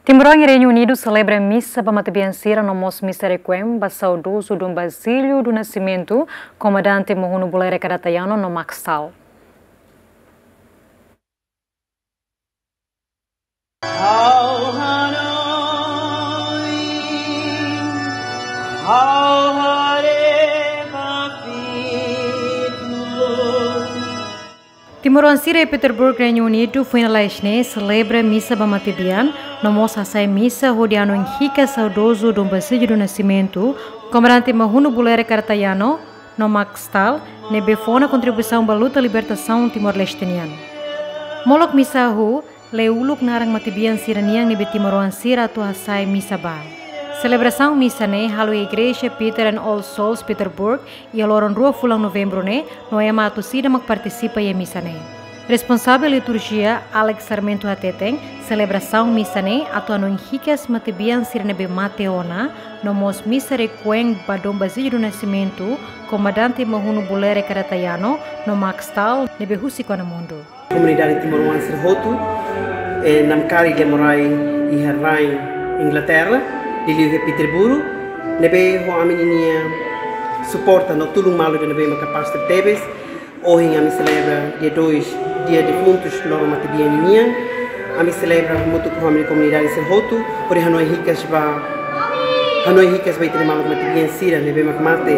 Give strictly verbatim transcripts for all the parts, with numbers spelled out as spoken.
Timoroan iha Reinu Unidu selebra misa ba matebian sira no mós misa requiem ba saudozu Dom Basílio do Nascimento, komandante Mahunu Bulerek Aratayano no Max Stahl. Timoroan sira iha Petersburg, Reinu Unidu, foin lalais ne'e selebra misa ba matebian, no mós hasai misa hodi hanoin hikas saudozu Dom Basílio do Nascimento, komandante Mahunu Bulerek Aratayano no Max Stahl, ne'ebé fó ona kontribuisaun ba luta libertasaun Timor-Leste nian. Molok misa hahú, lee uluk naran matebian sira-nian ne'ebé timoroan sira atu hasai misa ba. Selebrasaun misa ne'e halo iha Igreja Peter and All Souls Petersburg, iha loron rua fulan Novembru ne'e, no ema atu sira mak partisipa iha misa ne'e. Responsavel liturjia, Alex Sarmento, hateten, selebrasaun misa ne'e atu hanoin hikas matebian sira ne'ebé mate ona, no mós misa requiem ba Dom Basílio do Nascimento, komandante Mahunu Bulerek Aratayano, no Max Stahl, ne'ebé husik ona mundu. Komunidade timoroan sira hotu, eh, namkari lia morai iha rain Inglaterra, liuliu iha Peterborough, ne'ebé ho ami ninia suporta no tulun malu ida ne'ebé mak kapás tebes. Ohin ami selebra dia dois, dia defuntus, loron matebian ninian. Ami selebra hamutuk ho ami komunidade sira hotu, hodi hanoin hikas ba, hanoin hikas ba ita-nia maluk matebian sira ne'ebé mak mate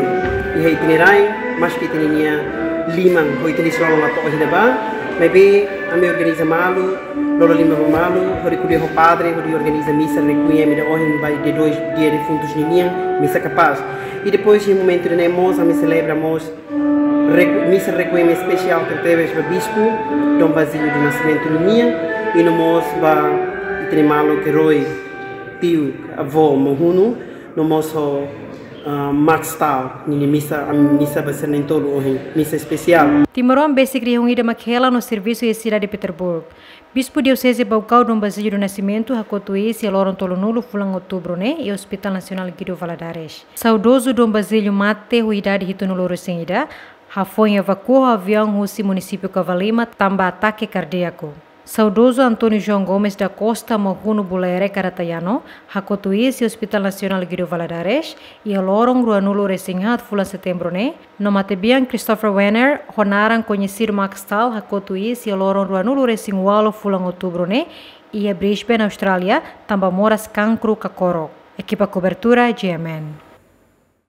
iha ita-nia rain, maski ita-nia liman ho ita-nia isin-lolon la to'o iha ne'ebá, maibé ami organiza malu, lolo liman ba malu, hodi ko'alia ho padre, hodi organiza misa requiem ida ohin ba dia dois, dia defuntus ninian, misa kapás. I depois iha momentu ida-ne'e mós, ami selebra mós requ-, misa requiem espesiál tebetebes ba bispu Dom Basílio do Nascimento ninian, i no mós ba ita-nia maluk herói, tiu, avó Mahunu, no mós ho, ah, Max Stahl, ninia misa, ami misa ba sira na'in-tolu ohin, misa espesiál. Timoroan besik rihun ida mak hela no servisu iha sidade Petersburg. Bispu Dioseze Baucau Dom Basílio do Nascimento hakotu iis iha loron tolunulu fulan Outubru ne'e iha Hospital Nasionál Guido Valadares. Saudozu Dom Basílio mate ho idade hitunulu-resin-ida, hafoin evakua ho aviaun husi munisípiu Cavalima tanba atake kardíaku. Saudozu António João Gomes da Costa Mahunu Bulerek Aratayano hakotu iis iha Hospital Nasionál Guido Valadares iha loron ruanulu-resin-haat fulan Setembru ne'e, no matebian Christopher Wenner, ho naran koñesidu Max Stahl, hakotu iis iha loron ruanulu-resin-ualu fulan Outubru ne'e iha Brisbane, Austrália, tanba moras kankru kakorok. Ekipa kobertura, G M N.